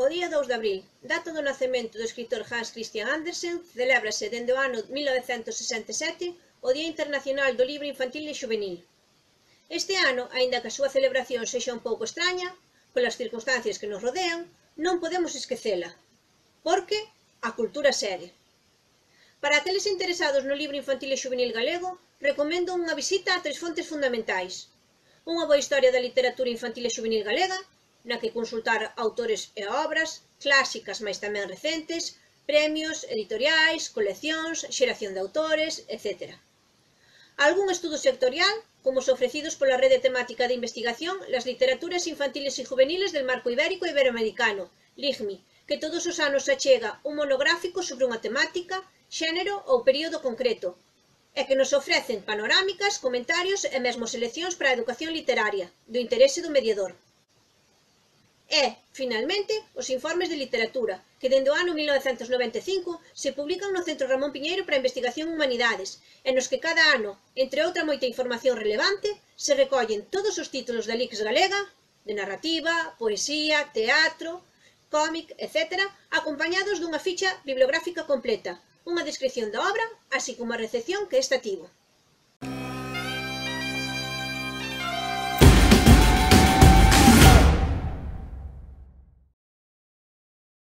O día 2 de abril, data do nacemento do escritor Hans Christian Andersen, celébrase dende o ano 1967 o Día Internacional do Libro Infantil e Xuvenil. Este ano, aínda que a súa celebración sexa un pouco extraña, polas circunstancias que nos rodean, non podemos esquecela, porque a cultura segue. Para aqueles interesados no libro infantil e xuvenil galego, recomendo unha visita a tres fontes fundamentais. Unha boa historia da literatura infantil e xuvenil galega, na que consultar autores e obras, clásicas mais tamén recentes, premios, editoriais, coleccións, xeración de autores, etc. Algún estudo sectorial, como os ofrecidos pola Rede Temática de Investigación Las Literaturas Infantiles e Juveniles del Marco Ibérico e Iberoamericano, LIGMI, que todos os anos achega un monográfico sobre unha temática, xénero ou período concreto, e que nos ofrecen panorámicas, comentarios e mesmo seleccións para a educación literaria, do interese do mediador. E, finalmente, os informes de literatura, que dende o ano 1995 se publican no Centro Ramón Piñeiro para a Investigación Humanidades, e nos que cada ano, entre outra moita información relevante, se recollen todos os títulos da LICS galega, de narrativa, poesía, teatro, cómic, etc., acompañados dunha ficha bibliográfica completa, unha descripción da obra, así como a recepción que esta tivo.